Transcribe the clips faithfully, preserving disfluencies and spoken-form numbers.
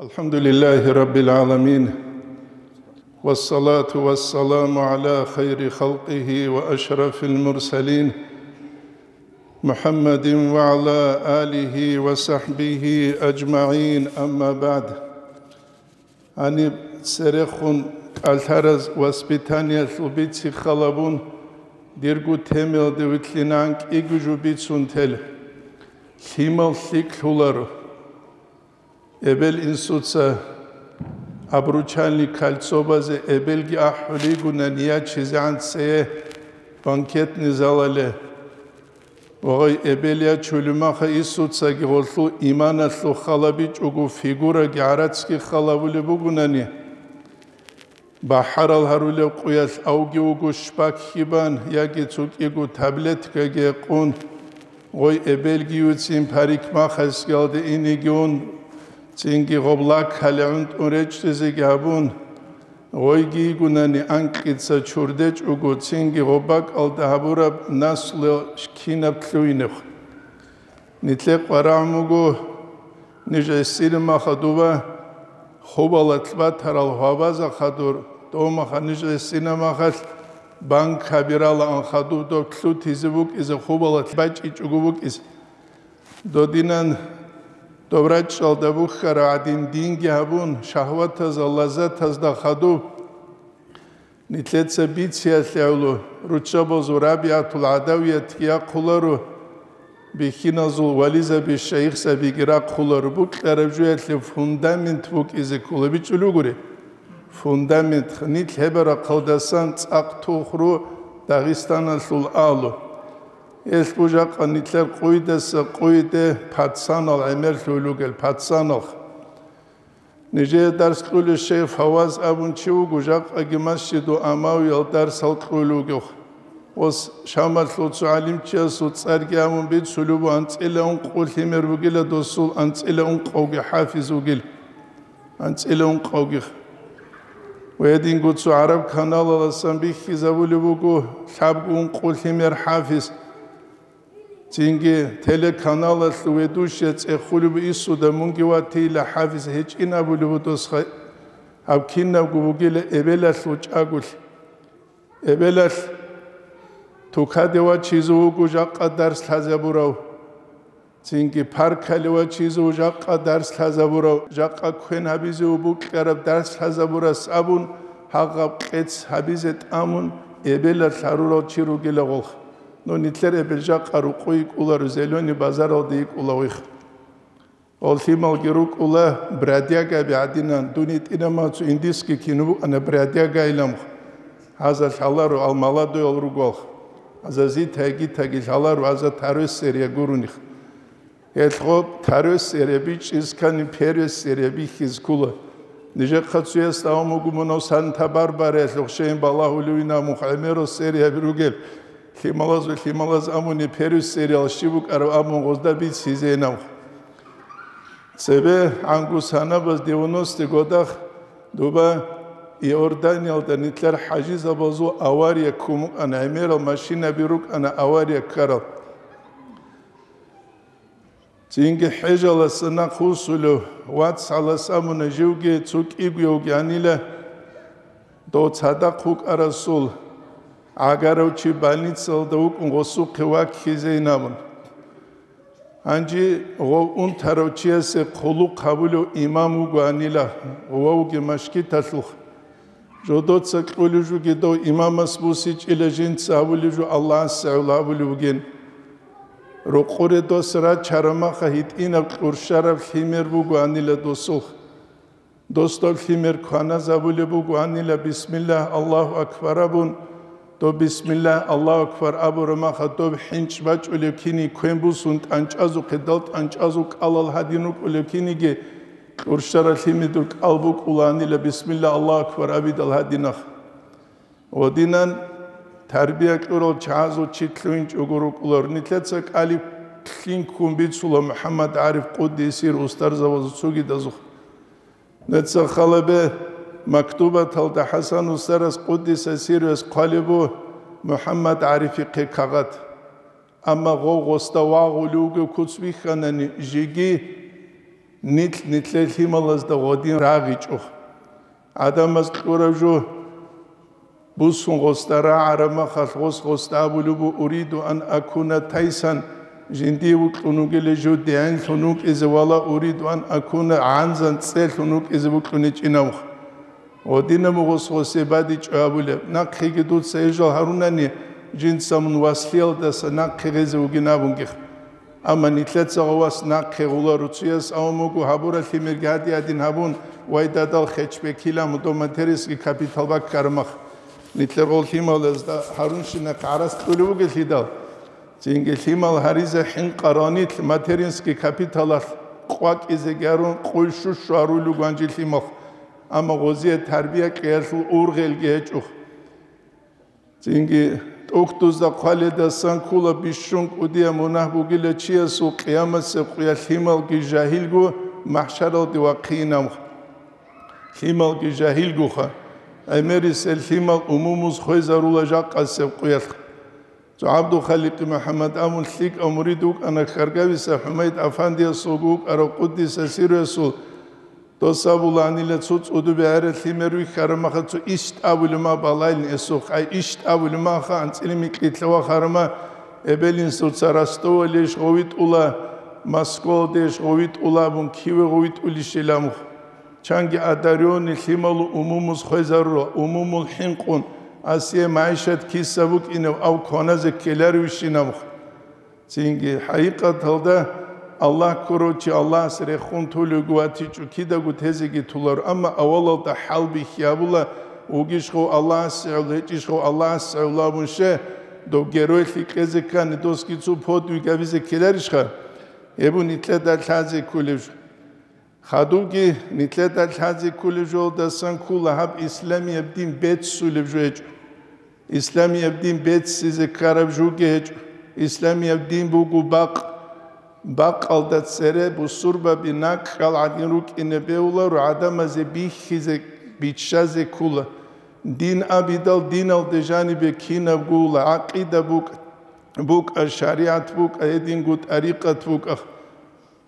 الحمد لله رب العالمين، والصلاة والسلام على خير خلقه وأشرف المرسلين، محمد وعلى آله وصحبه أجمعين، أما بعد. Гьаниб церехун кӀалъараз воспитаниялъул бицихъалабун, дирго темаялде вилълъинан кӀиго жо бицун тел. Лъимал лъикӀлъуларо. Эбел-инсуца обручальный кольцобазе эбелги ахӀулигуна ниячизегӀан цее банкетный залале. Ва гъай эбел ячулев маха инсуцаги гъолъул иманалъул халабичӀого фигураги гӀарацги халабулеб бугунани, бахӀарал гьарулеб къуялъ авги вуго шпак хьибан яги цо кӀиго таблеткаги гьекъун, гъой эбелгиюцин парикмахерскиялде инеги ун, цинги гъоб лаккале гӀунтӀун речӀчӀизеги гьабун, гъойги йигунани анкьица чурдечӀого, цинги гъоб бакӀалда гьабураб наслу кинаб лъугьинехъ. Нилъе къварагӀун буго, ниж гӀисинаб маха дуба, хубалалъ батарал гьвабаза хадур, дов маха ниж гӀисинаб махалъ банкаби ралаан хадуб доб лъутизе букӀизе, хубалалъ бачӀичӀого букӀизе. Додинан доб рачӀалда бухьарав гӀадин динги гьабун, шагьватазда, лаззатазда хадуб. Нилъеца бициялъе гӀоло, руччабазул РабигӀатул ГӀадавиятги яхъуларо, бихьиназул вализаби, шайихзабиги рахъуларо, букьараб жоялъе фундамент букӀизе ккола, бичӀчӀулев гури. Фундамент, нилъ гьеб рахъалдасан цӀакъ тухру Дагъистаналъул агьлу. Гьелъ бу жакъа нилъер къуйдаса къуйде пацанал гӀемерлъулел ругел, пацанал. Нижее дарс кьулев шейх Фаваз абун чи вуго, жакъаги Масжиду Амавиял дарсал кьулев вугев. Ос Шамалъул цо гӀалимчиясул цӀарги абун бицулев ву, анцӀила ункъо лъимер вугила досул, анцӀила ункъавги хӀафиз вугил. АнцӀила ункъавги. Ва гьединго цо гӀараб каналаласан бихьизабулеб буго лъабго ункъо лъимер хӀафиз. Цинги телеканалалъул ведущий цӀехулеб инсуда мунги ватила хӀафиз гьечӀин абулеб буго досха, гьаб кинабго бугила эбелалъул чӀаголъи. Эбелалъ тукаде вачизе вуго жакъа дарс лъазабурав. Цинги паркале вачизе вуго жакъа дарс лъазабурав, жакъа квен гьабизе вуго букьараб дарс лъазабурас абун, гьагъаб кьец гьабизе тӀамун, эбелалъ гьарурал чи ругила гъолх. Ну, нилъер эбел жакъа рукъу йикӀуларо, Зелёный базаралда йикӀула гъих. Гъол лъималги рукӀула бродягаби гӀадинан, дун гьитӀинаб мацу индийский кино букӀана, бродяга иламх. Гьаза лъаларо, ал молодойал ругоалх. Гьаза Зита-Гитаги лъаларо, гьаза тарес серия гуруних. Гьелъго тарес серия бичӀчӀиз ккани, перес серия бихьиз ккула. Нижехъа цуяс давам буго мунав Санта-Барбараялъухъ щейин балагьулевинаб мухъ гӀемерал серияби ругел. Лъималазул лъималаз амуни перес сериял щиб букӀараб абун гъозда бицизейинаб. Цебе гӀангу санабаз девяностый годах дуба Иорданиялда нилъер хӀажизабазул авария ккун букӀана, гӀемерал машинаби рукӀана авария ккарал. Цинги хӀежаласа нахъ вуссулев вацгӀалас абуна, живги цо кӀигоявги гьанила, дов цадахъ вукӀарасул гӀагарав чи больницалда вукӀун гъосухъе ваккизейин абун. Гьанже гъов унтарав чиясе хъулухъ гьабулев имам вугоанила, гъовги машгиталъухъ. Жодоца кьулев жуги дов имамас бусичӀила жинца гьабулев жо Аллагьасе гӀоло гьабулев вугин. Рокъоре дос рачараб маха гьитӀинаб кьурщараб лъимер бугоанила досулъ. Дос доб лъимер кваназабулеб бугоанила, бисмиллагь, Аллагьу акбар абун, доб бисмиллагь, Аллагьу акбар абураб маха доб хӀинчӀ бачӀулеб кини квен бусун тӀанчӀазухъе, дал тӀанчӀазул кӀалал гьадин рукӀулеб киниги, кьурщараб лъимедул кӀал букӀулаанила, бисмиллагь, Аллагьу акбар абидал гьадинах. Гъодинан тарбия кьурал чагӀазул чи лъугьинчӀого рукӀулар. Нилъеца кӀалиб лъин ккун бицула МухӀаммад ГӀариф къуддисир устарзабазул цогидазухъ. Нуца халабе мактубаталда ХӀасан устарас къуддиса сирвес хъвалеб бу МухӀаммад ГӀарифихъе кагъат. Амма гъов гъосда вагъулев вугев куц бихьанани, жеги Нилъ нилъер лъималазда гъодин рагъичӀо. ГӀадамаз кьураб жо бусун гъосда рагӀараб махалъ гъос гъосда абулеб буго: «Уриду ан акуна тайсан», жиндие вукьун вугила жо дегӀинлъун вукӀизе, «вала уриду ан акуна гӀанзан», цӀелъун вукӀизе вукьун гьечӀинавха. Гъодинаб гъос гъосе бадичӀо абулеб, нахъеги дуца гьеб жал гьарунани, жинца мун васлиялдаса нахъе гъезе вугин абунгех. Амма нилъеца гъов вас нахъе гъула руцуяс, авун буго гьабурал лъимерги гьади-гьадин гьабун, вай дадал хечбекила мудо материнский капитал баккараб мах. Нилъер гъол лъималазда гьарунщинахъ гӀарац кьулев вугелъидал. Цинги лъимал гьаризе хӀинкъарал нилъ материнский капиталалъ къвакӀизеги гьарун, къуй щущу гьарулел руго гьанже лъималха. Амма гъозие тарбия кьеялъул ургъелги гьечӀо. Цинги тӀухьдузда хъваледасан ккола бищун кӀудияб мунагь бугила чиясул къиямасеб къуялъ лъималги жагьилго махӀшаралде вахъинавха. Лъималги жагьилгоха, гӀемерисел лъимал умумуз хвезарула жакъасеб къуялъ. Цо ГӀабдулхаликъи МухӀаммад абун лъикӀав мурид вукӀана Хьаргависа ХӀумайд Афандиясулго вукӀарав къуддиса сируясул. Дос абулаанила цо цӀудубе гӀерал лъимер вихьараб махалъ цо ишт абулеб ма балайилин эсухъ, ай ишт абулеб маха анцӀила микьилъа вахараб ма, эбел-инсуца Ростовалдейищ гъов витӀула, Москвалдейищ гъов витӀула абун, киве гъов витӀулищила мух. Чанги одарённый лъималу умумуз хвезарула, умумул хӀинкъун, асие магӀишат киса букӀинев ав кваназе ккеларевищинабха. Цинги, хӀакъикъаталда, Аллагь ккурав чи Аллагьас рехун толевги ватичӀо, кидаго тезеги толаро, амма авалалда хӀалбихьи гьабула, вугищ гъов Аллагьас гӀевла, гьечӀищ гъов Аллагьас гӀевла абун, ще, дов геройлъи кьезе ккани, досги цо подвиг гьабизе ккеларищха? Гьеб нилъеда лъазе кколеб жо. Хадубги нилъеда лъазе кколеб жолдасан ккола гьаб исламияб дин беццулеб жо гьечӀо. Исламияб дин беццизе ккараб жуги гьечӀо. Исламияб дин буго бакъ. Бакъалда цере бусурбаби накӀкӀал гӀадин рукӀине бегьуларо, гӀадамазе бихьизе, биччазе ккола. Дин абидал диналде жанибе кинаб гула, гӀакъида букӀ-, букӀа, шаригӀат букӀа, гьединго тӀарикъат букӀа.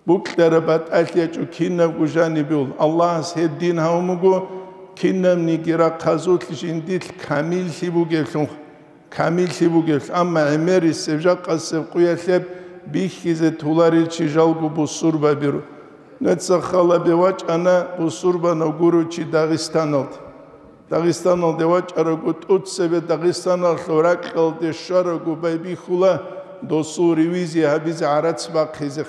Букьараб батӀалъи ячӀо кинабго жанибе. Аллагьас гьеб дин гьавун буго, кинабниги рахъазулъ жиндилъ камиллъи бугеблъун, камиллъи бугеблъун. Амма гӀемерисеб жакъасеб къуялъ гьеб бихьизе толарел чи жалго бусурбабиро. Нуца халабе вачӀана бусурбанав гурев чи Дагъистаналда. Дагъистаналде вачӀарагу, тӀуцебе Дагъистаналъул ракьалде щварагу байбихьула досул ревизия гьабизе гӀарац бахъизе.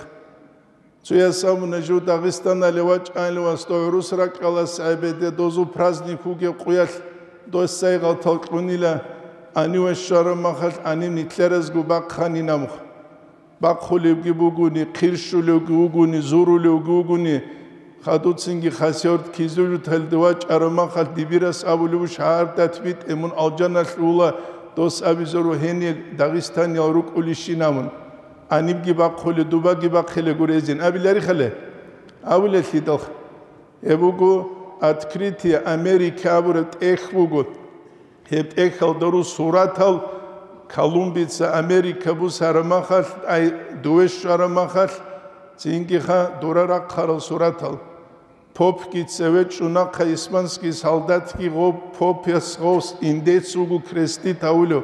Цояс абуна, жив Дагъистанале вачӀайилан васда гӀурус ракьалас гӀебеде дозул праздник вугеб къуялъ дос сайгъал талкьунила, гьаниве щвараб махалъ гьанив нилъеразго бахъанин абухъ. Бахъулевги бугони, хъирщулевги вугони, зурулевги вугони, хадуцинги Хасавюрт-Кизилюрталде вачӀараб махалъ дибирас абулев шагьардат битӀе мун алжаналъ ула, дос абизару гьенир дагъистаниял рукӀулищинавун. Гьанибги бахъуле, дубаги бахъиле гурезин абиларихъале? Абулелъидалха. Гьеб буго «Открытие Америки» абураб тӀехь буго. Гьеб тӀехьалда ру суратал Колумбица Америка бусараб махалъ, ай, дуве щвараб махалъ, цинги ха дура рахъарал суратал. Попги цеве чӀунахъа испанский солдатги гъо попас гъос индец вуго крестит гьавулев.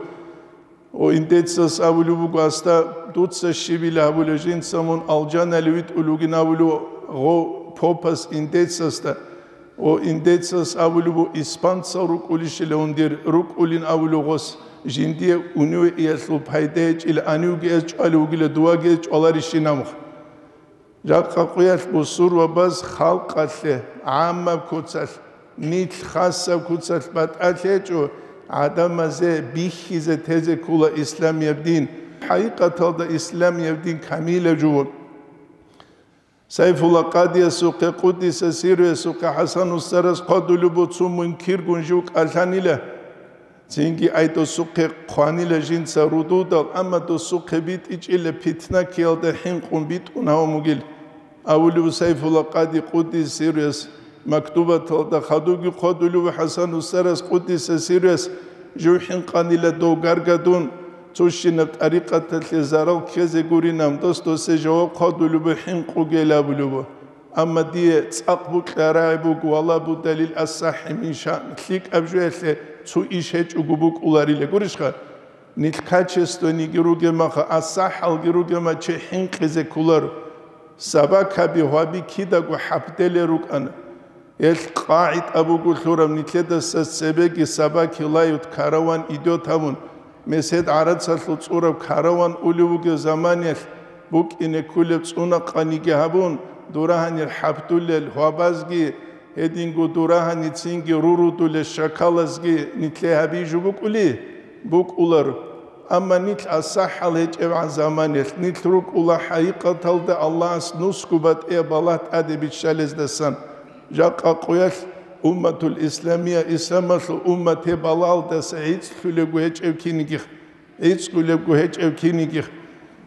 О, индецас абулев буго, аста дуца щибила гьабулев, жинца мун алжанали витӀулев вугин абулев, гъо попас индецасда. О, индецас абулев буго, испанцал рукӀулищила гьундир рукӀулин абулев гъос, жиндие униве иялъул пайда гьечӀила, анивги эс чӀвалев вугила, дувги эс чӀваларищинамха. Жакъа къуялъ бусурбабаз халкъалъе, гӀаммаб куцалъ, нилъ хасаб куцалъ батӀалъи гьечӀо, гӀадамазе бихьизе тезе ккола исламияб дин. ХӀакъикъаталда исламияб дин камилаб жо. Сайфулла Къадиясухъе, къуддиса сирруясухъе, ХӀасан устарас хъвадулеб буго, цо мункиргун жив кӀалъанила. Цинги ай досухъе хъванила жинца рудудал, амма досухъе битӀичӀила питна ккеялда хӀинкъун битӀун гьавун вугил, абулев Сайфулла Къади къуддиса сирруяс мактубаталда. Хадубги хъвадулев ХӀасан устарас къуддиса сирруяс жив хӀинкъанила дов гаргадун, цущинаб тӀарикъаталъе зарал ккезе гуринан, дос досе жаваб хъвадулев хӀинкъугел абулев. Амма дие цӀакъ букьа рагӀи буго, вала будалил асахӀи мин шаън, лъикӀаб жоялъе цо иш гьечӀого букӀуларила. Гурищха? Нилъ качественниги ругемаха, асахӀалги ругема чи хӀинкъизе кколаро. Сабакаби гьваби кидаго хӀапделел рукӀана. Гьелъ къагӀида буго лъураб нилъедаса цебеги сабаки лают караван идет гьабун, месед гӀарацалъул цӀураб караван улев вугев заманиялъ букӀине кколеб цӀунакъаниги гьабун, дурагьанир хӀапдулел гьвабазги, гьединго дурагьаницинги рурудулел шакалазги нилъе гьабижу букӀули? БукӀулар. Амма нилъ асахӀал гьечӀебгӀан заманиялъ, нилъ рукӀула хӀакъикъаталда Аллагьас нусго батӀияб балагь тӀаде биччалездасан. Жакъа къуялъ умматул исламия, исламалъул уммат гьеб балагьалдаса гӀицӀлъулебго гьечӀев кинигих, гӀицӀгулебго гьечӀев кинигих.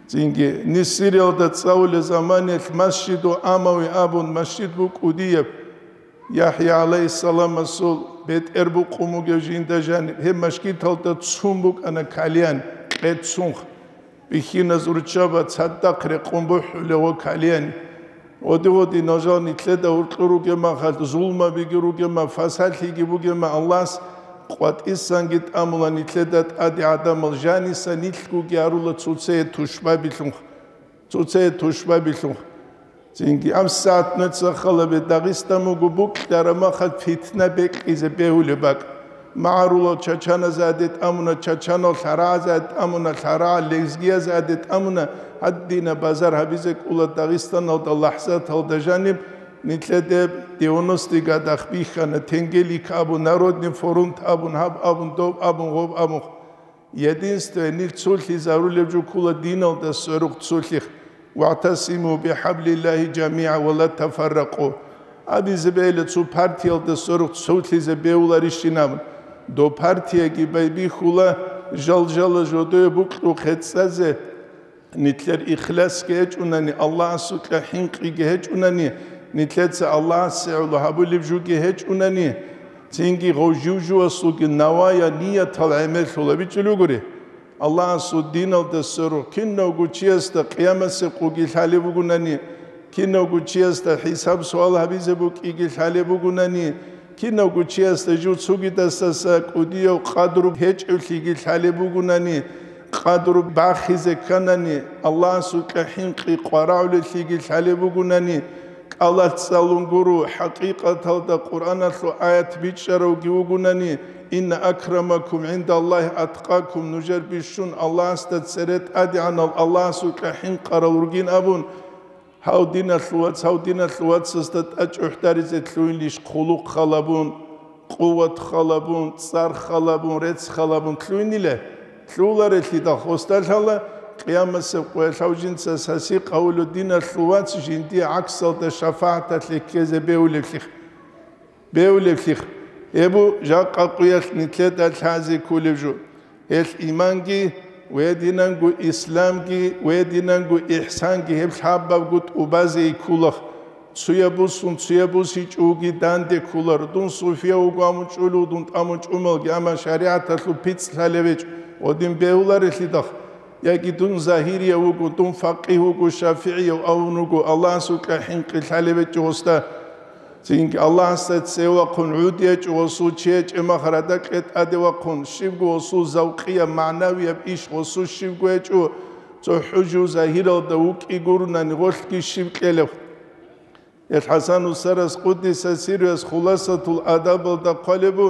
Цинги, Сириялда цӀалулел заманиялъ Масжиду Амави абун, масжид букӀудияб, ЯхӀя гӀалайгьиссаламасул бетӀер букъун бугев жинда жаниб, гьеб мажгиталда цун букӀана калиян, къеццунха. Бихьиназ руччаба цадахъ рекъон бухӀулев ва калияни. Оди-оди нажал нилъеда гьуркьур ругема, хал зулмабиги ругема, фасалъиги бугема, Аллагьас къватӀисанги тӀамула нилъеда тӀаде гӀадамал жаниса нилъгуги гьарула цоцее тушбабилъунха. Цоцее тушбабилъун. Цинги абсаат нуца халабе Дагъистан буго букьараб махал фитна бекьизе бегьулеб бакӀ. МагӀарулал чачаназе гьадетӀ амуна, чачанал лъарагӀазе гьадетӀ амуна, лъарагӀал лезгиязе гьадетӀ амуна, гьадина базар гьабизе кӀула Дагъистаналда лахӀзаталда жаниб, нилъеде девяностый годах бихьана, Тенгелик абун, Народный фронт абун, гьаб абун, доб абун, гъоб абун. Единстве, нилъ цолъизарулеб жо ккула диналда сверухъ цолъих: «ВагӀтасиму бихӀаблиллагьи жамигӀа ва ла тафарракъу». Абизе бегьила цо партиялда сверухъ цолъизе бегьуларищинаб. Доб партияги байбихьула жал-жала жодое букьухъе цӀазе, нилъер ихласги гьечӀунани, Аллагьасукьа хӀинкъиги гьечӀунани, нилъеца Аллагьасе гӀоло гьабулеб жуги гьечӀунани, цинги гъов жив-жувасулги навая ниятал гӀемерлъула бичӀчӀулев гури. Аллагьасул диналда сверухъ кинавго чиясда къиямасеб къуги лъалеб бугунани, кинавго чиясда хӀисаб-суал гьабизе букӀиги лъалеб бугунани, кинавго чиясда жив цугидасдаса кӀудияв къадру гьечӀевлъиги лъалеб бугунани, къадру бахизе кканани, Аллагьасукьа хӀинкъи къварагӀулелъиги лъалеб бугунани, кӀалалъ цӀалун гуро, хӀакъикъаталда Къуръаналъул аят бичӀчӀаравги вугунани, «Инна акрамакум гӀиндаллагьи аткъакум», нужер бищун Аллагьасда цере тӀадегӀанал, Аллагьасукьа хӀинкъарал ругин абун, гьав диналъул вац, гьав диналъул вацасда тӀачӀухӀдаризе лъугьинлъищ хъулухъ халабун, къуват халабун, цӀар халабун, рецц халабун лъугьинила? Лъугьуларелъидал хосталъала, къиямасеб къоялъав жинца саси къавулу диналъул вац жиндие гӀаксалда шафагӀаталъе ккезе бегьулевлъих. Бегьулевлъих. Гьебу жакъа къуялъ нилъеда лъазе кколев жо. Гьелъ иманги, гьединанго исламги, гьединанго ихсанги гьеб лъабабго тӀубазе кколах. Цуяб бусун, цуяб бусичӀоги данде кколар. Дун суфия вуго амун чӀулев, дун тӀамун чӀумалги, амма шаригӀаталъул пицӀ лъалевечӀ, гъодин бегьуларелъидах. Яги дун загьирияв вуго, дун факъигь вуго, шафигӀияв авун вуго, Аллагьасукьа хӀинкъи лъалевечӀ гъосда. Цинги Аллагьасда цевахъун гӀуд гьечӀо гъосул чи гьечӀеб махарада кьетӀаде вахъун, щибго гъосул завкъияб, магӀнавияб иш гъосул щибго гьечӀо, цо хӀужу загьиралда вукӀи гурунани гъолъги щиб кьелев. Ил ХӀасан устарас къуддиса сирруяс Хуласатул Адабалда хъвалебу,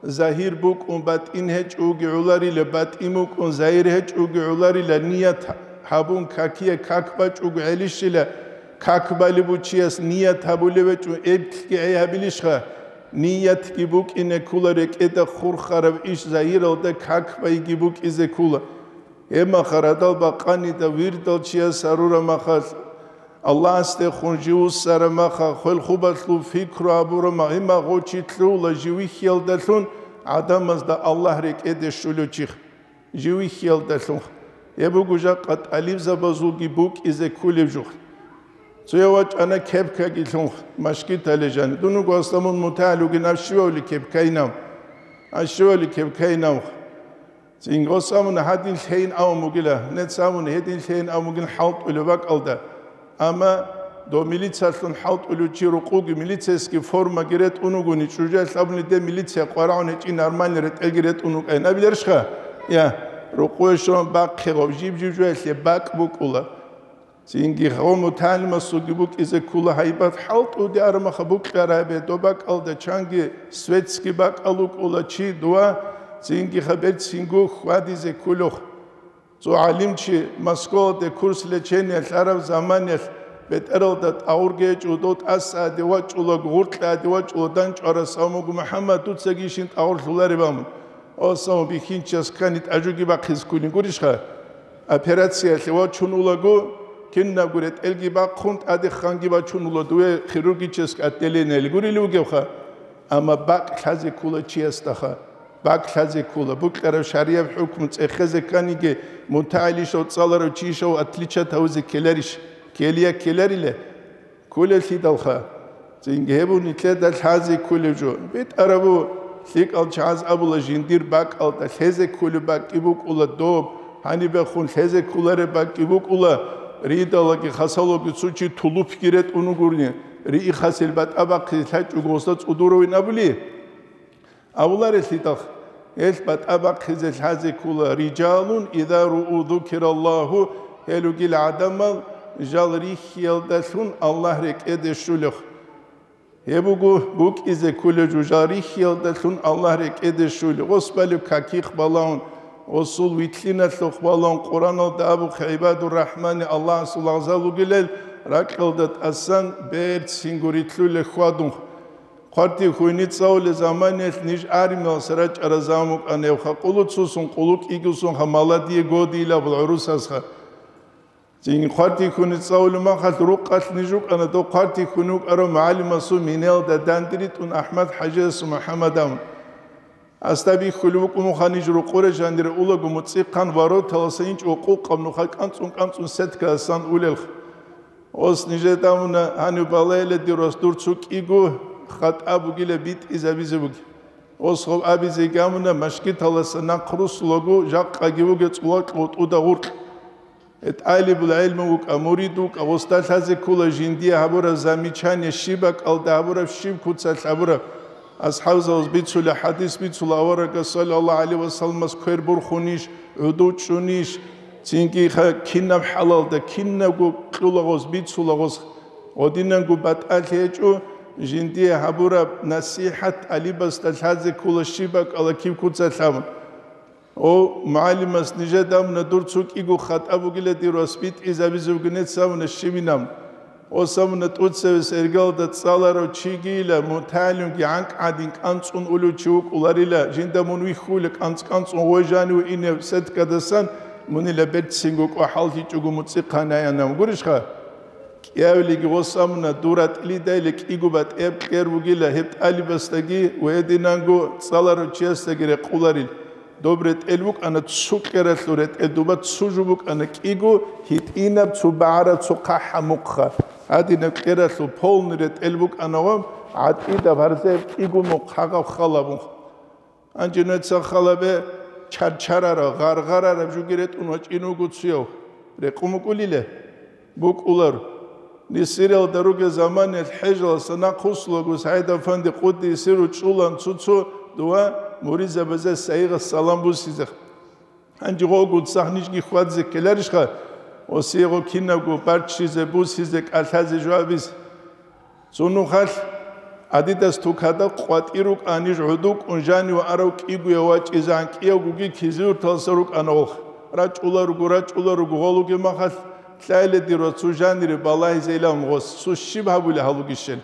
загьир букӀун батӀин гьечӀоги гӀоларила, батӀин букӀун загьир гьечӀоги гӀоларила, ният гьабун какие как бачӀого гӀелищила, как балебу чияс ният гьабулев гьечӀо эблъги гӀей гьабилищха? Ниятги букӀине ккула рекӀеда хурхараб иш загьиралда как байги букӀизе ккула. Гьеб махарадал бакъанида вирдал чияс гьарураб махалъ, Аллагьасдехун жив вуссараб маха, хвел-хубалъул пикру гьабураб ма-, гьеб магъо чи лъугьула жив вихьиялдалъун гӀадамазда Аллагь рекӀеде щолев чих. Жив вихьиялдалъун. Гьеб буго жакъа тӀалибзабазулги букӀизе кколеб жух. Цояв вачӀана кепкаги лъун, машгитале жани. Дун вуго асламун мутагӀал вугин, ав щивавли кепкайинав? Ав щивавли кепкайинав? Цинги гъос абуна, гьадин лъейин абун бугила, нец абуна, гьедин лъейин абун бугин хӀалтӀулеб бакӀалда. Амма Дов милициялъун хӀалтӀулев чи рукъуги милицейский формаги ретӀун вугони, чӀужалъ абуни, де милиция къварагӀун гьечӀин, нормальный ретӀелги ретӀун вукӀайин абиларищха? Я, рукъуе щун бахъе гъов, жиб-жиб жоялъе бакӀ букӀула. Цинги гъов мутагӀалимасулги букӀизе ккула гьайбат, хӀалтӀуде армаха букьарабе, доб бакӀалда чанги светский бакӀал вукӀула чи дова, цинги хабер цинго хьвадизе ккулухъ. Цо гӀалимчи Москваялде курс лечения лъараб заманиялъ бетӀералда тӀагъурги гьечӀо, дов тӀасаде вачӀула, гъуркьаде вачӀула, данчӀварас абун буго: «МухӀаммад, дуцаги ишин тӀагъурлъулареб», – абун. О, савун бихьинчияс ккани тӀажуги бахъизе ккулин гурищха? Операциялъе вачун улаго, кинабго ретӀелги бахъун, тӀаде ханги бачун ула, дуе хирургическое отделениялъ гурилев вугевха. Амма бакӀ лъазе ккула чиясдаха. БакӀ лъазе ккула. Букьараб шарияб хӀукму цӀехезе кканиги, мутагӀилищав, цӀаларав чийищав отличат гьавизе ккеларищ? Ккелия ккеларила? Кколеллъидалха. Цинги гьеб нилъеда лъазе кколев жо. БетӀарабу, лъикӀал чагӀаз абула, жиндир бакӀалда лъезе кколеб бакӀги букӀула доб, гьанибехун лъезе кколареб бакӀги букӀула, ридалаги хасалоги цо чи тулупги ретӀун вугурни, риихъасел батӀа бахъизе лъачӀого гъосда цӀудуравин абули? Авларелъидал, гьелъ батӀа бахъизе лъазе ккула: «Рижалун иза руу зукираллагьу», гьел ругел гӀадамал жал рихьиялдалъун Аллагь рекӀеде щулев. Гьеб буго букӀизе кколев жо, жал рихьиялдалъун Аллагь рекӀеде щулев. Гъос балеб какихъ балагьун, гъосул витлъиналъухъ балагьун, Къуръаналда абухъе, гӀибадур-рахӀмани Аллагьасул лагъзал ругелал, ракьалда тӀасан берцинго рилълъулел хьвадун. Хъвартихьуни цӀалулел заманиялъ ниж армиялъ рачӀарал заман букӀана, гьев хакъулуцусун къулу кӀигусунха, молодые годы илабул гӀурусазха. Цин хъвартихьуни цӀалулеб махалъ рукъалъ ниж рукӀана, дов хъвартихьуни вукӀарав мугӀалимасул минелда дандиритӀун АхӀмад-хӀажиясул МухӀаммадав. Асда бихьулеб букӀун буха ниж рукъуре жанире улаго муцӀихъан вороталаса инчӀого къукъаб нуха кӀанцӀун-кӀанцӀун сеткаласан улелха. Ос нижеда муна гьанив балайла дир вас дур цо кӀиго хатӀа бугила битӀизабизе буги. Ос гъов абизе гамуна машгиталаса нахъ русулаго жакъаги вуге цӀулакь гъутӀуда гъуркь. ТӀалибул гӀелму вукӀа, мурид вукӀа, гъосда лъазе ккола жиндие гьабураб замечание, щиб бакӀалда гьабураб, щиб куцалъ гьабураб. АсхӀабзабаз бицула, хӀадис бицула, аварагас саллаллагьу гӀалайгьи ва салламас квер бурхунищ, гӀуду чӀунищ, цинги ха-, кинаб хӀалалда, кинабго кьула гъос, бицула гъос. Гъодинанго батӀалъи гьечӀо, жиндие гьабураб насихӀат тӀалибасда лъазе ккола щиб бакӀала киб куцалъ абун. О, мугӀалимас нижеда абуна, дур цо кӀиго хатӀа бугила дир вас битӀизабизе вугинец абуна щибинаб. Ос абуна, тӀоцевес эргалда цӀаларав чигийила, мутагӀалимги гӀанкӀ гӀадин кӀанцӀун улев чи вукӀуларила, жинда мун вихьула кӀанцӀ-кӀанцӀун гъой жанив инев сеткадасан, мунила берцинго кӀвахӀаллъичӀого муцӀихъанайанав гурищха? КӀиявилиги гъос абуна, дур ратӀлидайила кӀиго батӀияб кьер бугила, гьеб тӀалибасдаги ва гьединанго цӀаларав чиясдаги рекъуларил. Доб ретӀел букӀана цо кьералъул ретӀел, дуба цо жо букӀана кӀиго гьитӀинаб, цо багӀараб, цо хъахӀаб мухъа. Гьадинаб кьералъул полный ретӀел букӀана ва гӀатӀидаб гьарзаяб кӀиго мухъ гьагъаб халабун. Гьанже нуца халабе чарчарараб, гъаргъарараб жуги ретӀун вачӀин вуго цуяв. Рекъун букӀулиле? БукӀулар. Нисиралда ругел заманиялъ хӀежаласа нахъ вуссулаго СагӀид-афанди къуддиса сирругьу чӀулан цо-цо дова муридзабазе сайигъас салам буссизе. Гьанже гъогун цахӀ нижги хьвадзе ккеларищха? Осиего кинабго барччизе, буссизе, кӀалъазе жо абизе. Цо нухалъ Адидас тукада къватӀир рукӀа, ниж гӀодукӀун жанив арав кӀигояв вачӀизегӀан кӀиявгоги кизилурталса рукӀана гъолх. РачӀула руго, рачӀула руго, гъолуги махалъ лъайла дир ва цо жанире балагьизейилан гъос, цо щиб гьабули гьалугищел.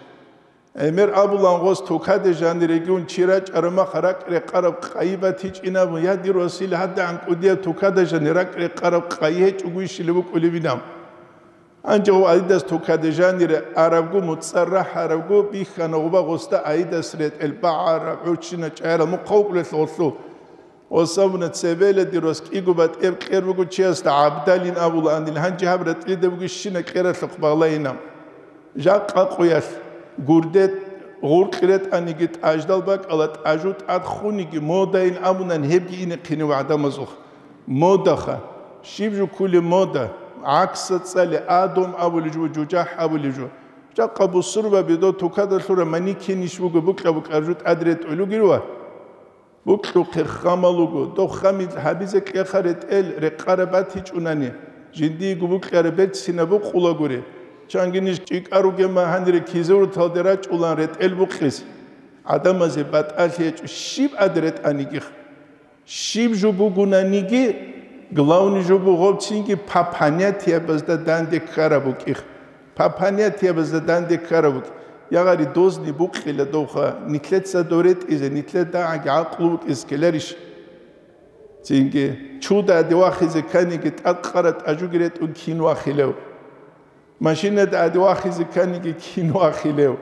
ГӀемер абулан гъос тукаде жанирегиун чи рачӀараб мах ракӀ-рекъараб къайи батичӀинабун, я дир васил, гьадагӀан кӀудияб тукада жани ракӀ-рекъараб къайи гьечӀого ишилеб букӀулебинаб. Гьанже гъов Адидас тукаде жанире арабго, муцӀар рахӀарабго, бихьана гъуба гъосда Адидас ретӀел багӀараб, гӀурччина чӀайарал мухъа вукӀулелъ гъолъул. Гъос абуна, цебела дир вас кӀиго батӀияб кьер буго чиясда, ГӀабдалин абулаанил, гьанже гьаб ретӀлида бугищина кьералъухъ багълайина. Жакъа къуялъ гурде гъуркь ретӀаниги тӀаждал бакӀала, тӀажу тӀад хуниги модайин абунан гьебги инехъинив гӀадамазухъ. Модаха. Щиб жо ккулеб мода? ГӀакса цӀали, адом абулеб жо, жужахӀ абулеб жо. Жакъа бусурбаби дов тукада лъура манекен иш буго букьа-букьараб жо тӀад ретӀулугел ва букьухъе хамал руго. Дов хамил гьабизе кьеха ретӀел рекъараб батичӀунани, жиндиего букьараб берцинаб букъулагури. Чанги ниж чӀикӀа ругема гьанире кизурталде рачӀулан ретӀел букьис. ГӀадамазе батӀалъи гьечӀо щиб ад ретӀанигиха. Щиб жо бугунаниги, главный жо бугъобцинги по понятиябазда данде ккараб букӀих. По понятиябазда данде ккараб букӀ. Ягъари дозни букъила довха, нилъеца доретӀизе, нилъер дагӀаги гӀакълу букӀиз ккеларищ? Цинги, чуда аде вахизе кканиги, тӀад къара тӀажуги ретӀун кин вахилев? Машинада аде вахизе кканиги, кин вахилев?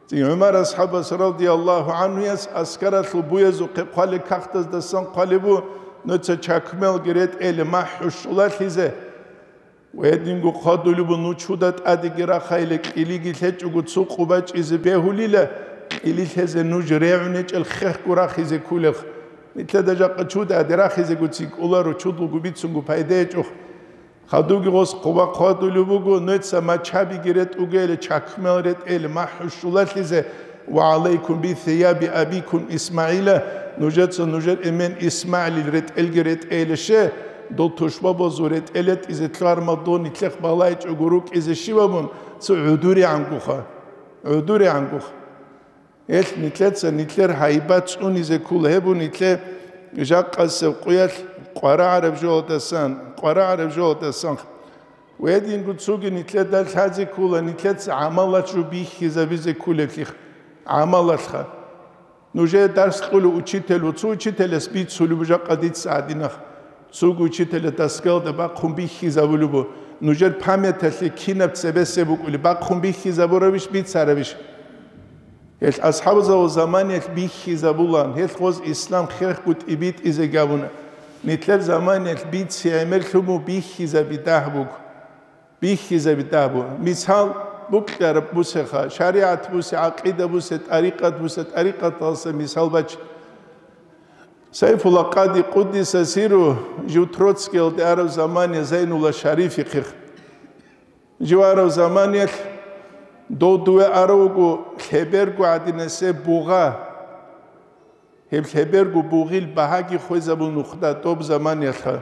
Цин ГӀумар асхӀабас радияллагьу гӀанхуяс аскаралъул буязухъе хъвалеб кагътаздасан хъвалеб бу, нуца чакмелги ретӀели махӀу щулалъизе. Ва гьединго хъвадулеб бу, ну чуда тӀадеги рахайиле, кьилиги лъечӀого цо къо бачӀизе бегьулила, кьили лъезе нуж регӀунечӀел хехго рахизе ккулелъ. Нилъеда жакъа чуда аде рахизегоцин кӀоларо, чудлуго бицунго пайда гьечӀо. Хадуги гъос хъуба хъвадулеб буго, нуца мачгьабиги ретӀугейиле, чакмел ретӀейиле, махӀу щулалъизе, ва гӀалайкум би сияби абикум ИсмагӀила, нужеца нужер эмен ИсмагӀилил ретӀелги ретӀейиле ще, дол тушбабазул ретӀел ретӀизе лъугьармал дон нилъехъ балайчӀого рукӀизе щибабун, цо гӀудуригӀангуха, гӀудуригӀангуха. Гьелъ нилъеца нилъер гьайбат цӀунизе ккола, гьеб бу нилъер жакъасеб къуялъ къварагӀараб жоялдасан, къварагӀараб жоялдасан. Ва гьединго цоги нилъеда лъазе ккола, нилъеца гӀамалалъ жо бихьизабизе кколеблъи, гӀамалалъха. Нужее дарс кьулев учитель ву, цо учителяс бицулеб жакъа дица гьадинах. Цоги учителя доскаялда бахъун бихьизабулеб бу. Нужер памяталъе кинаб цебесеб букӀулеб, бахъун бихьизабурабищ, бицарабищ? Гьелъ асхӀабзабазул заманиялъ бихьизабулаан, гьелъ гъоз ислам хехго тӀибитӀизеги абуна. Нилъер заманиялъ бице гӀемерлъун бу бихьизаби дагь буго. Бихьизаби дагь буго. Мисал, букьараб бусеха, шаригӀат бусе, гӀакъида бусе, тӀарикъат бусе, тӀарикъаталъа мисал бач. Сайфулла Къади къуддиса сиру жив Троцкиялде араб замане Зайнулла Шарифихъе. Жив арав заманиялъ дов дуве арав вуго лъеберго гӀадинасеб бугъа. Гьеб лъеберго бугъил багьаги хвезабун нухда доб заманиялъха.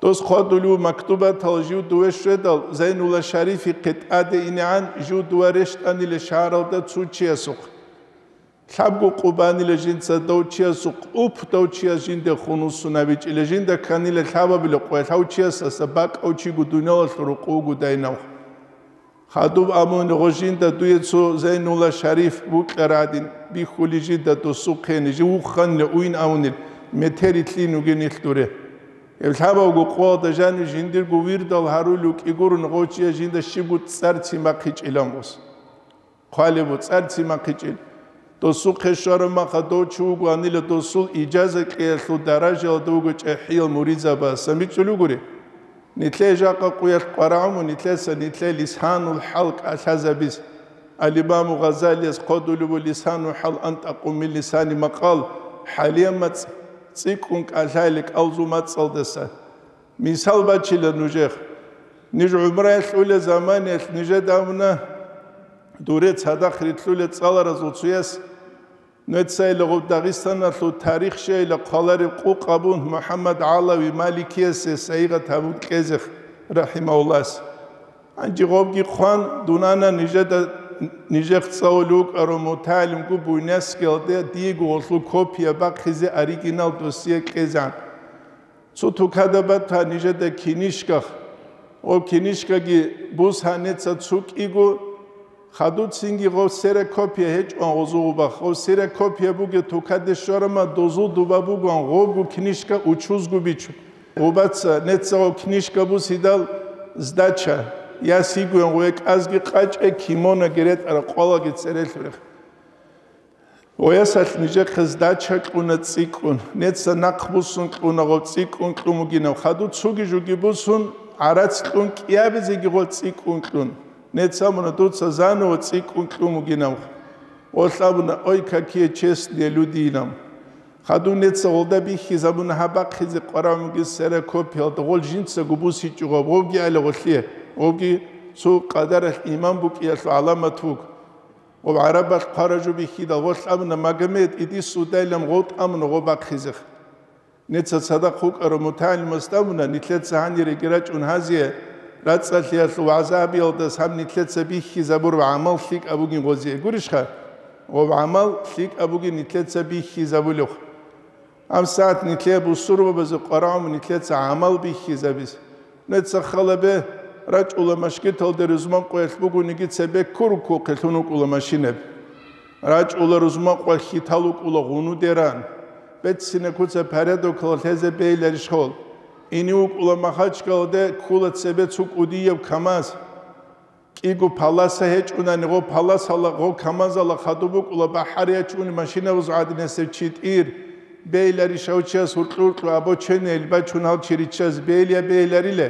Дос хъвадулев мактубатал жив дуве щведал, Зайнулла Шарифихъе тӀаде инегӀан жив дува рещтӀанила шагьаралда цо чиясухъ. Лъабго къо банила жинца дов чиясухъ, уп, дов чияс жинде хунусун абичӀила, жинда кканила лъабабила къоялъ гьав чиясаса бакӀав чиго дуниялалъул рукъу вуго дайнав. Хадуб абуни гъо жинда дуе цо Зайнулла Шариф вукьарадин, бихьули жинда досухъе, жив вухханила уйин абунил, метери лъин вугенилъ дуре. Гьеб лъабавго къоялда жанив жиндирго вирдал гьарулев кӀигурун гъов чияс жинда щибго цӀар цимахъичӀилан гъос. Хъвалеб бу цӀар цимахъичӀел. Досухъе щвараб маха дов чи вугоанила досул ижаза кьеялъул даражаялда вуго чӀехӀиял муридзабаз самбичӀулев гури. Нилъее жакъа къуялъ къварагӀуму нилъеца нилъее лисанул хӀал кӀалъазабиз. Ал-Имаму Гъазалияс хъодулев ву лисанул хӀал антӀакъу мин лисани макъал, хӀалиял мацӀ цӀикӀкӀун кӀалъайли кӀалзул мацӀалдаса. Мисал бачила нужех. Ниж гӀумраялъ ула заманиялъ нижеда абуна, дуре цадахъ рилълъула цӀаларазул цуяс, нуцайила гъуб Дагъистаналъул тарих щайила хъвалареб къукъ абун МухӀаммад ГӀалави Маликиясе сайигъат гьабун кьезех, рахӀимагьуллагьас. Гьанже гъобги хъван, дун ана нижеда, нижех цӀалулев вукӀарав мутагӀалимгу буйнакскиялде диего гъолъул копия бахъизе оригинал досие кьезан. Цо тукада бата нижеда кинишках. Гъоб кинишкаги бус гьанеца цукӀиго, хадуцинги гъоб ксерокопия гьечӀоан гъозу гъубах. Гъоб ксерокопия бугеб тукаде щварама дозул дуба бугоан гъобгу кинишка учузгу бичун. Гъубаца неца гъоб кинишка бусидал сдача, яс йигоян гъуе кӀазги къачӀе, кимонаги ретӀара къвалаги церелъурех. Гъоясалъ нижехъе сдача кьуна цӀикӀкӀун, неца нахъ бусун кьуна гъо цӀикӀкӀун кьун бугинав, хадур цоги жуги бусун, гӀарац кьун кӀиабизеги гъо цӀикӀкӀун кьун. Неца муна дуца заново цӀикӀкӀун кьун бугинав. Гъолъ абуна: «Ой, какие честные люди», — инав. Хадуб неца гъолда бихьизабуна гьаб бахъизе къварагӀумги ксерокопиялда, гъол жинцаго бусичӀого, гъобги гӀела гъолъие, гъобги цо къадаралъ иман букӀиялъул гӀаламат вуго. Гъоб гӀарабалъ хъваражу бихьидал гъолъ абуна, Магомед, иди сюда, илан гъов тӀамуна гъоб бахъизеха. Неца цадахъ вукӀарав мутагӀалимас абуна, нилъеца гьаниреги рачӀун гьазие, рацӀцӀалъиялъул вагӀза гьабиялдас гьаб нилъеца бихьизабураб гӀамал лъикӀаб бугин гъозие. Гурищха? Гъоб гӀамал лъикӀаб бугин нилъеца бихьизабулев. Гьаб сагӀат нилъее бусурбабазе къварагӀун нилъеца гӀамал бихьизабиз. Неца халабе, рачӀула машгиталда рузман къоялъ бугониги цебе ккуруккухъе лъун вукӀула машинаб. РачӀула рузман къоялъ хьитал вукӀула гъунудеран. Беццина куца порядокалда лъезе бейиларищ гъол? Ине вукӀула Махачкалде, ккула цебе цо кӀудияб КамАЗ. КӀиго паласа гьечӀунани, гъо паласала, гъо КамАЗала хадуб букӀула бахӀарияв чӀун машинабазул гӀадинасев чи тӀир. Бейиларищ гьав чияс гьуркьу-гьуркьу або ченел бачун гьал чи риччаз бейилия бейилариле?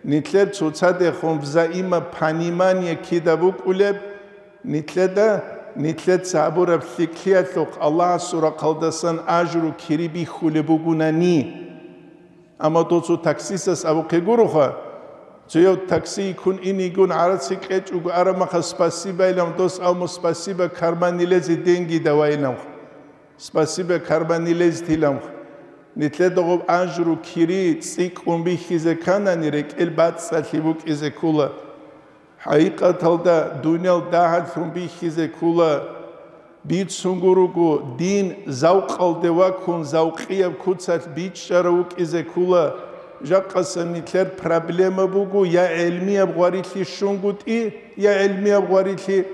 Нилъер цоцадехун взаимопонимание кида букӀулеб, нилъеда, нилъеца гьабураб лъикӀлъиялъухъ Аллагьасул рахъалдасан ажру кири бихьулеб бугунани. Амма дов цо таксистас абухъе гуроха, цояв такси йиккун инигун гӀарац кьечӀого арамаха спасибо илан дос, амма спасибо карман нилезе деньги давай иланха. Спасибо карман нилезе тиламха. Нилъеда гъоб ажру кири цӀикӀкӀун бихьизе кканани, рекӀел бацӀцӀалъи букӀизе ккула. ХӀакъикъаталда дуниял дагьаблъун бихьизе ккула. Бицунго руго, дин завкъалде ваккун, завкъияб куцалъ бичӀчӀарав вукӀизе ккула. Жакъаса нилъер проблема буго, я гӀелмияб гъварилъи щунгутӀи, я гӀелмияб гъварилъи,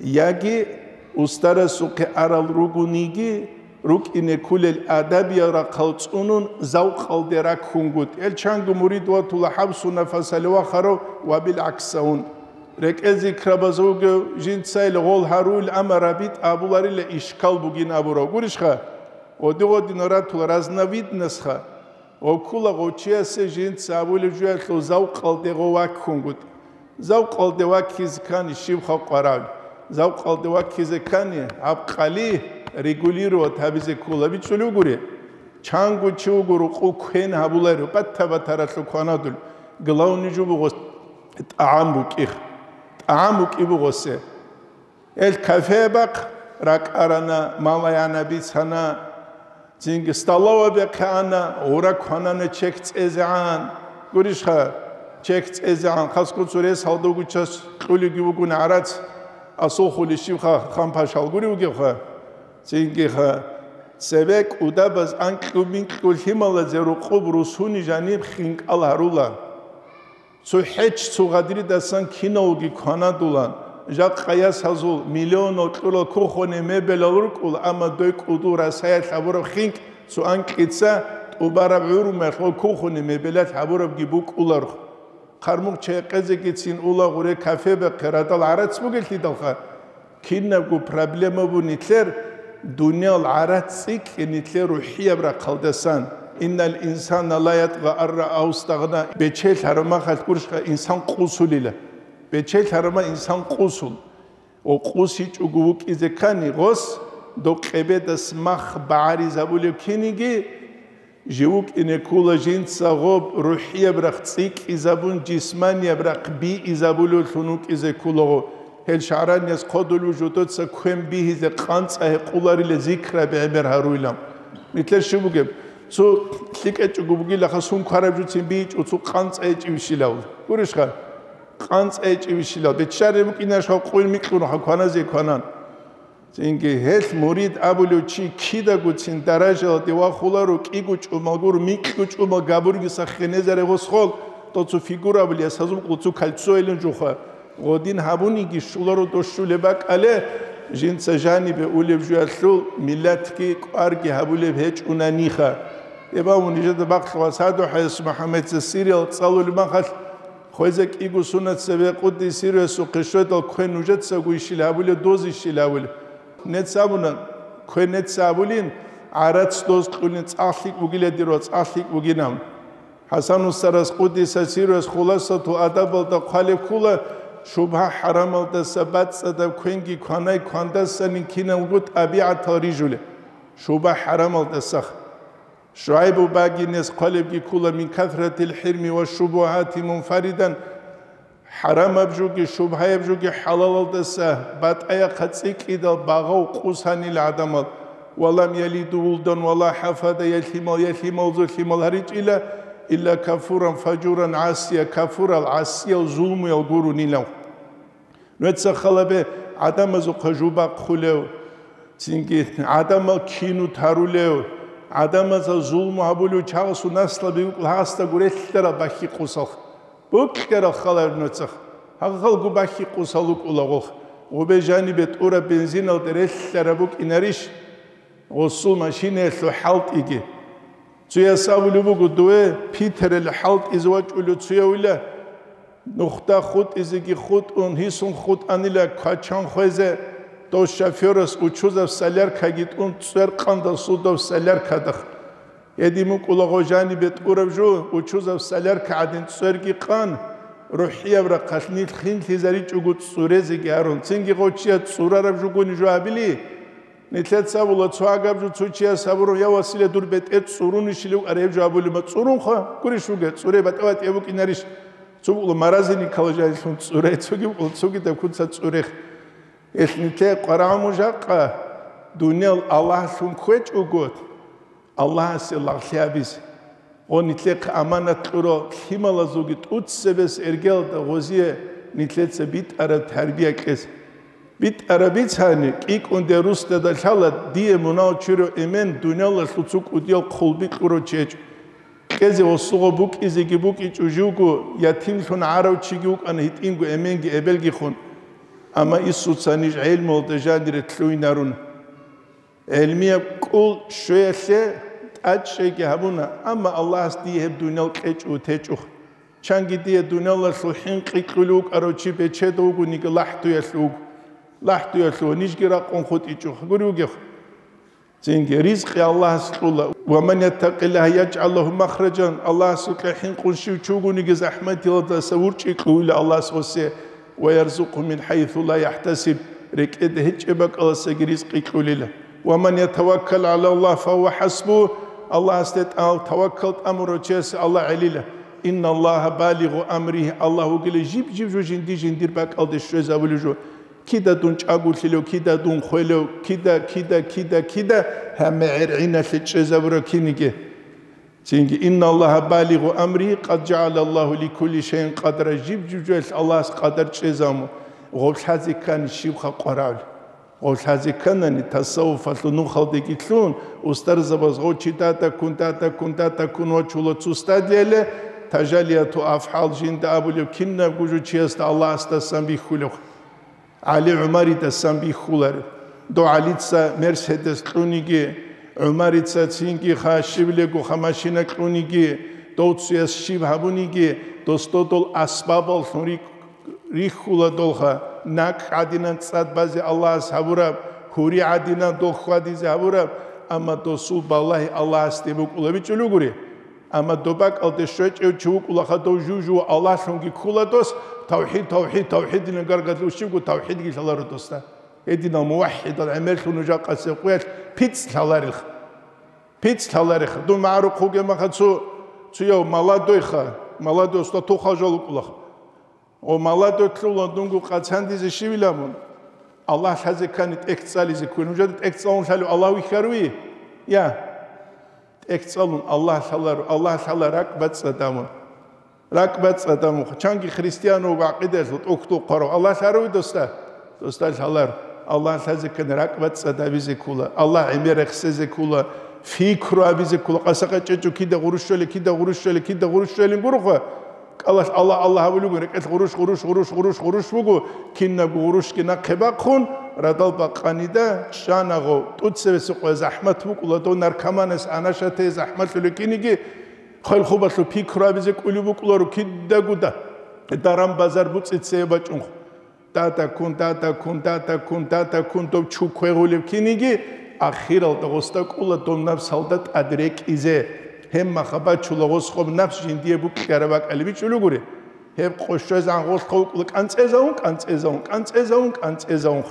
яги устарасухъе арал ругониги, рукӀине кколел адабиял рахъал цӀунун, завкъалде раккунгутӀи. Гьел чанго мурид ватула хӀабсу нафасалев вахарав ва билгӀаксаун. РекӀел зикрабазулги жинцайила гъол гьаруил, амма рабитӀа абуларила ишкал бугин абурав. Гурищха? Гъоди-гъодинал ратула разновидностьха. Гъоккула гъочиясе жинца абулеб жуялъул завкъалде гъо ваккунгутӀи. Завкъалде ваккизе ккани щиб халкъ варав? Завкъалде ваккизе ккани гьаб къали регулировать гьабизе ккола. БичӀчӀулев гури, чанго чи вуго рукъу квен гьабуларо, бата-батаралъул кванадул. Главный жо буго тӀагӀам букӀих. ТӀагӀам букӀи бугосе. Гьел кафе бахъ ракӀарана, малаяна бицана, цинги столовабехъе ана, гъура кванана чек цӀезегӀан. Гурищха, чек цӀезегӀан, хасго цо рес гьалдавгу час кьулиги вугун гӀарац, асулхъули щибха, ханпашал гури вугевха. Цингиха, цебе кӀудабаз анкьу-минкьу лъималазе рукъуб русуни жаниб хинкӀал гьарула. Цо хӀеч, цо гъадридасан киналги кванадулан, жакъа ясазул миллионал кьурал кухонный мебелал рукӀула, амма дой кӀудул Расаялъ гьабураб хинкӀ цо анкьица тӀубараб гӀурумалъ ва кухонный мебелалъ гьабурабги букӀуларх. Хъармухъ чайхъезегицин ула гъуре кафе бахъе радал гӀарац бугелъидалха, Кинабго проблема бу нилъер, дуниял гӀарац цӀикӀкӀе нилъер рухӀияб рахъалдасан. Иннал инсана ла ятгъа ан раа устагъна. Бечелъ гьарамахалъ гурищха инсан къусулила. Бечелъ гьарама инсан къусул. Ва къусичӀого вукӀизе ккани гъос, докъебедас мах багӀаризабулев киниги, Жив вукӀине ккола жинца гъоб рухӀияб рахъ цӀикӀкӀизабун, жисманияб рахъ биизабулевлъун вукӀизе кколаго. Гьел шагӀранияс хъодулев жодоца квен бигьизе къанцӀа гьекъуларила зикраби гӀемер гьаруйилан. Нилъер щиб бугеб? Цо лъикӀачӀого бугилаха, сун квараб жуцин бийичӀо, цо къанцӀа гьечӀевищилав. Гурищха? КъанцӀа гьечӀевищилав. Беччараб букӀинашха къуй микьунаха кваназе кванан. Цинги гьелъ мурид абулев чи кидагоцин даражаялде вахуларо, кӀиго чӀумал гуро, микьго чӀумал габурги сахинезаре гъосхол, доцо фигура абулес гьазул къуцу кольцо илин жуха. Гъодин гьабуниги щуларо дос щулеб бакӀале, жинца жанибе улеб жуялъул миллатги кӀварги гьабулеб гьечӀунаниха. Эбавун нижеда бахъ ва садухӀаяс МухӀаммадца Сириял цӀалулеб махалъ, Хвеза кӀиго сунат цебе къуддисируясухъе щведал квен нужецаго ищил гьабулев, доз ищил гьабулев. Нец абуна, квен нец абулин, гӀарац доз кьулин цӀакъ лъикӀ бугила дир ва цӀакъ лъикӀ бугинав. ХӀасан устарас къуддисасируяс Хуласатул адабалда хъвалеб ккула, шубгьа-хӀарамалдаса бацӀцӀадаб квенги кванай квандасанин киналго тӀабигӀатал рижулеб. Шуба хӀарамалдасах. ШугӀайбу багинес хъвалебги ккола: «Мин касратил хӀирми ва шубугьати мунфаридан», хӀарамаб жуги, шубгьаяб жуги хӀалалалдаса батӀаяхъа цӀикӀкӀидал багъав къусанил гӀадамал, «ва лам ялиду вулдан ва ла хафада», я лъимал, я лъималзул лъимал гьаричӀила, «илла кафуран фажуран гӀасия», кафурал, гӀасиял, зулмуял гурунилав. Нуца халабе гӀадамазухъа жубахъулев, цинги гӀадамал кину тарулев, гӀадамазда зулму гьабулев чагъасул наслаби вукӀла гьасда гурелъарал бахьи къусалха. Букьарал халаб нуцах, гьагъалгу бахьи къусал вукӀулагъулха. Гъубе жанибе тӀураб бензиналда релълъараб букӀинарищ? Гъусул машинаялъул хӀалтӀиги. Цуяс абулеб буго: «Дуе Питералъ хӀалтӀизе вачӀулев цуявила, нухда хутӀизеги хутӀун, гьисун хутӀанила квачан хвезе, дов шофёрас учузаб соляркаги тӀун цӀвер къандал судов соляркадах». Гьедин мукӀулагъо жанибе тӀураб жо, учузаб солярка гӀадин цӀверги къан, рухӀияб рахъалъ нилъ хинлъизаричӀого цӀурезеги гьарун, цинги гъов чияс цӀурараб жугони жо гьабили, Нилъеца абула, цо гьагаб жо цо чияс абураб: «Я, Василия, дур бетӀер цӀурунищилев?» Араб жо абулеб: «Ма цӀурунха, гурищ вуге, цӀуре батӀа-батӀияб букӀинарищ?» Цо букӀула маразиникала жанилъун цӀуре, цоги букӀула цогидаб куца цӀурех. Гьелъ нилъее къварагӀун жакъа, дуниял Аллагьлъун кквечӀого, Аллагьасе лагълъи гьабизе. Гъо, нилъехъе аманат кьурал лъималазулги тӀуцебес эргелда гъозие нилъеца битӀараб тарбия кьезе. БитӀараб бицани, кӀикӀунде русдада лъала дие мунагьал чурав эмен дуниялалъул цо кӀудиял хъулби кьурав чи гьечӀо. Кьезе гъосуго букӀизеги букӀичӀо живго, ятимлъун гӀарав чиги вукӀана гьитӀинго эменги эбелги хун. Амма Иисуца ниж гӀелмуялда жанире лъугьинарун. ГӀелмияб кӀул щвеялъе тӀадчӀейги гьабуна, амма Аллагьас дие гьеб дуниял кьечӀо течӀухъ. Чанги дие дуниялалъул хӀинкъи кьулев вукӀарав чи бечедав вугониги лахӀдуялъ вуго. ЛахӀдуялъ вуго, нижги ракъун хутӀичӀухъ, гури вугехъ. Цинги ризкъи Аллагьас кьула. «Ва ман яттакъиллагьа яжгӀал лагьу махражан», Аллагьасукьа хӀинкъун щив чи вугониги захӀматиялдаса урчӀи кьуила Аллагьас гъосе. «Ва ярзукъгьу мин хӀайсу ла яхӀтасиб», рекӀеде гьечӀеб бакӀалдасаги ризкъи кьулила. «Ва ман ятаваккал гӀала Аллагь, фагьува хӀасбугь», Аллагьасде тӀал-, таваккал тӀамурав чиясе Аллагь гӀелила. «Инна Аллагьа балигъу амригьи», Аллагь вугила жиб-жиб жо жинди-жиндир бакӀалде щвезабулев жо. Кида дун чӀаголъилев, кида дун хвелев, кида, кида, кида, кида, гьамма гӀергӀиналъе чӀезабурав киниги. Цинги: «Инна Аллагьа балигъу амригьи, къад жагӀала Аллагьу ликулли шайин къадра», жиб-жиб жоялъ Аллагьас къадар чӀезабун, гъоб лъазе ккани щибха къварагӀули. Гъоб лъазе кканани, тасаввуфалъул нухалдеги лъун, устарзабаз гъов чи датаккун, датаккун, датаккун вачула цо стадлъияле, тажалияту афгӀал жинда абулев кинабго жо чиясда Аллагьасдасан бихьулев. ГӀали ГӀумаридасан бихьуларев. Дов ГӀалица Мерседес кьуниги, ГӀумарица цинги ха щивлего ха машина кьуниги, дов цуяс щиб гьабуниги, дос додол асбабаллъун рихь-, рихьула долха, накӀ гӀадинан цӀад базе Аллагьас гьабураб, гьури гӀадинан дол хьвадизе гьабураб, амма досул балагьи Аллагьасде букӀулабичӀулугури. Амма доб бакӀалде щвечӀев чи вукӀулаха дов жужу Аллагьлъунги ккула дос, тавхӀид, тавхӀид, тавхӀидилан гаргадулев щибго тавхӀидги лъаларо досда. Гьединал муваххӀидал гӀемерлъун нужа къасеб къуялъ пицӀ лъаларелха. ПицӀ лъалареха. Дун магӀарухъ вугеб маха цо, цояв молодойха, молодой уста тухал жал вукӀулаха. О, молодой лъула дунго къацандизе щивилан мун? Аллагь лъазе ккани тӀехь цӀализе ккун. Нужеда тӀехь цӀалун лъалев Аллагь вихьаруи? Я. ТӀехь цӀалун Аллагь лъаларо, Аллагь лъала ракӀ бацӀцӀадамун. РакӀ бацӀцӀадамун. Чанги христиан вуго гӀакъидаялъул тӀухьдул хъварав. Аллагь лъаруй досда? Досда лъалар. Аллагь лъазе ккани ракӀ бацӀцӀадабизе ккула. Аллагь гӀемер рехсезе ккула. Фикру абизе ккула. Къасакъа чӀечӀо кида гъурущ щвели, кида гъурущ щвели, кида гъурущ щвелин гурухъа. КӀалалъ Аллагь, Аллагь абулеб буго, рекӀелъ гъурущ, гъурущ, гъурущ, гъурущ, гъурущ буго, кинабго гъурущги нахъе бахъун, радал бакъанида, чӀанагъав, тӀуцебесеб къоя захӀмат букӀула, дов наркоманас анашатее захӀмалъулев киниги, хъвел-хъубалъул пикру абизе кӀулеб букӀуларо кидагуда, даран-базар буцӀице бачӀунхъ. Датаккун, датаккун, датаккун, датаккун дов чу квегъулев киниги, ахиралда гъосда кӀула дов напсалда тӀад рекӀизе. Гьебмаха бачула гъос гъоб напс жиндие букьараб бакӀалде бичӀчӀулев гури. Гьеб къо щвезегӀан гъолъ хъо вукӀула кӀанцӀезавун, кӀанцӀезавун, кӀанцӀезавун, кӀанцӀезавун.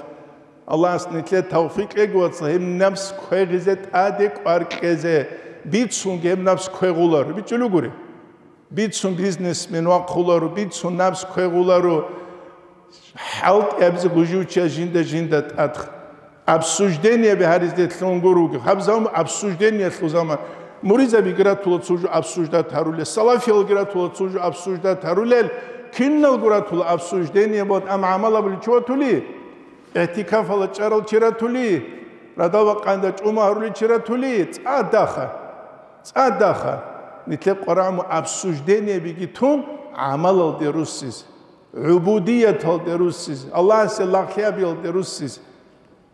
Аллагьас нилъе тавфикъ кьеги, вацал, гьеб напс квегъизе тӀаде кӀвар кьезе, бицунги гьеб напс квегъуларо, бичӀчӀулугури. Бицун бизнесмен вахъуларо, бицун напс квегъуларо, хӀалтӀи абизе гужуча жинда-жинда тӀад. Обсуждениеби гьаризе лъун гуруги. Гьаб заман обсуждениелъул заман. Муризабиги ратула цо жо обсуждать гьарулел, салафиялги ратула цо жо обсуждать гьарулел, киналго ратула обсуждение, вот, ам гӀамал абулев чи ватули? ИгӀтикафалда чӀарал чи ратули, радал бакъанда чӀума гьарулел чи ратули, цӀадаха, цӀадаха, нилъер къварагӀму обсуждениебиги тун, гӀамалалде руссиз, гӀубудияталде руссиз, Аллагьасе лагълъи абиялде руссиз.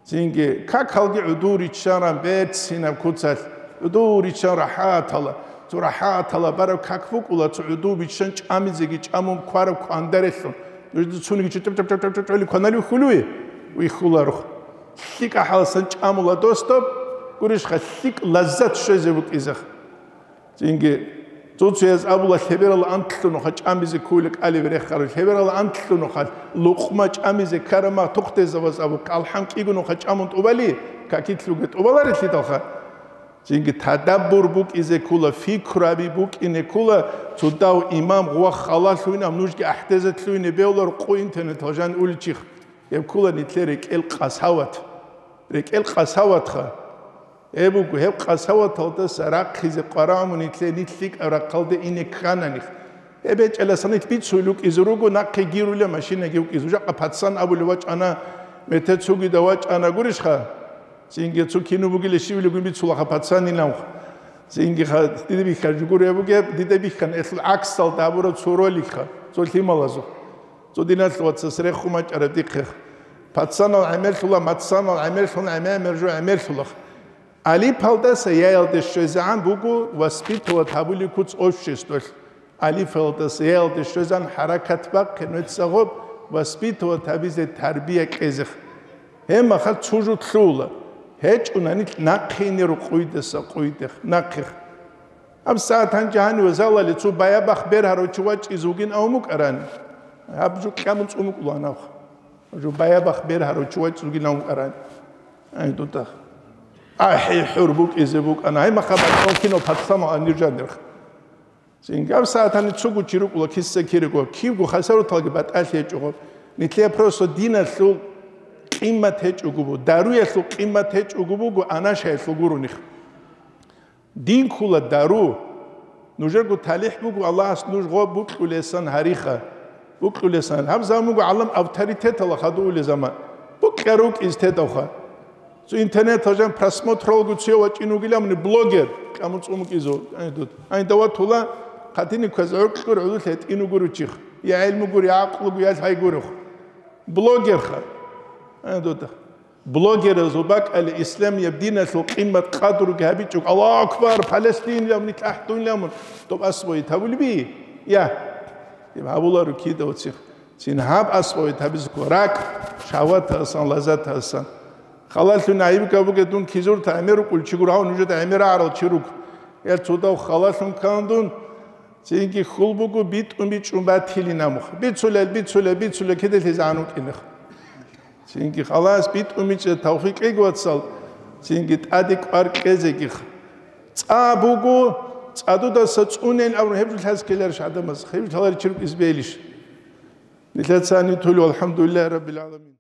Цинги, какалги гӀудур риччаран берцинаб куцалъ, гӀудур риччан рахӀатала, цо рахӀатала бараб как букӀула, цо гӀудур биччан чӀамизеги чӀамун квараб квандарелъун. Нужеда цониги чӀу-, чӀу-, чӀу-, чӀу-, чӀу-, чӀу-, кваналев хьулуе? Вихьуларухъ. ЛъикӀа хӀаласан чӀамула дос доб, гурищха, лъикӀ лаззат щвезе букӀизех. Цинги, цо-цояз абула, лъеберал антлъунухъа чӀамизе ккула кӀалеб рехарав, лъеберал антлъунухъа лукъма чӀамизе ккарама тухтезаваз абу, калхӀам кӀигунухъа чӀамун тӀубали, какилъуге тӀубаларелъидалха. Цинги тадаббур букӀизе ккула, фикруаби букӀине ккула, цо дав имам гъва халалъуйнаб, нужги ахӀдезатлъуйне бевлар къу интернетал жан уличихъ. Гьеб ккула нилъер рекӀел къасават. РекӀел къасаватха. Гьеб буго, гьеб къасаваталдаса рахъизе къварагӀму нилъе нилъ лъикӀаб рахъалде ине ккананихъ. Гьеб гьечӀеласан нилъ бицуй лукӀизе руго, нахъе гирула машинаги вукӀизе. Жакъа пацан абулев вачӀана, метер цугида вачӀана гурищха? Цинги цо кино бугила щивилигун бицулаха пацанилавха. Цинги ха-, дида бихьа жугуре бугеб, дида бихьан элъул гӀаксалда абураб цо роликха, цо лъималазухъ. Цо диналъ вацас рехун бачӀараб дихъе. Пацанал гӀемерлъула, мацанал гӀемерлъун гӀемер-мержу гӀемерлъула. Алипалдаса яялде щвезегӀан буго воспитывать гьабулеб куц обществолъ. Алифалдаса яялде щвезан хӀаракат бахъе, нуца гъоб воспитывать гьабизе тарбия кьезех. Гьеб махал цо жо лъугьула. ГьечӀунани нахъе ине рукъуйдаса къуйдех, нахъех. Гьаб сагӀат гьанже гьаниве залали цо баябахъ бергьарав чи вачӀизе вугин авун букӀарани? Гьаб жо кьамун цӀун букӀулаан абха. Жо баябахъ бергьарав чи вачӀизе вугин авун букӀарани? Ай, дуда. АхӀи, хӀур букӀизе букӀана. Гьай, махабат, кино пацама аниржандерх. Цинги гьаб сагӀат гьаниб цого чи рукӀула, киса кирего, кибго хасаруталги батӀалъи гьечӀого. Нилъее просто диналъул къимат гьечӀого буго, даруялъул къимат гьечӀого буго, анашаялъул гуроних. Дин ккула дару. Нужерго талихӀ буго, Аллагьас нуж гъо букьулесан гьариха. Букьулесан. Гьаб заман буго гӀалам авторитетала хадув ули заман. Букьа рукӀиз тедавха. Цо интернетал жан просмотралго цуя вачӀин вугилан блогер, кьамун цӀун вукӀизу. Ай, дуда. Ай, даватула, хъатини квез гӀуркьур гӀудулъ гьетӀин вугур вучихъ. Я гӀелму гур, я гӀакълу гур, я лъай гурухъ. Блогерха. Ай, дуда. Блогеразул бакӀалде исламияб диналъул къимат къадруги гьабичӀого, Аллагьу акбар, Палестинилан, нилъ ахӀдунилан, доб асбойи тавулби? Я. Гьаб гьабуларо кида вацихъ. Цин гьаб асбойи табизго ракӀ, шагьватасан, лазатасан. Халалъун гӀайиб габуге дун кизурта гӀемер рукӀул чи гур, гьав нужеда гӀемер агӀарал чи руг. Эл цодав халалъун ккан дун, цинги хьул буго битӀун бичӀчӀун батилин амухъ. Бицулел, бицулел, бицулел, киделъизегӀан вукӀинех. Цинги халас битӀун мичӀе тавфикъ кьеги, вацал, цинги тӀаде кӀвар кьезегих. ЦӀа буго, цӀадудаса цӀунел абун гьеб жо лъаз ккеларищ гӀадамаз, гьеб жо лъаларичи рукӀиз бегьилищ? Нилъецани тулев, алхӀамдулиллагьи раббил гӀаламин.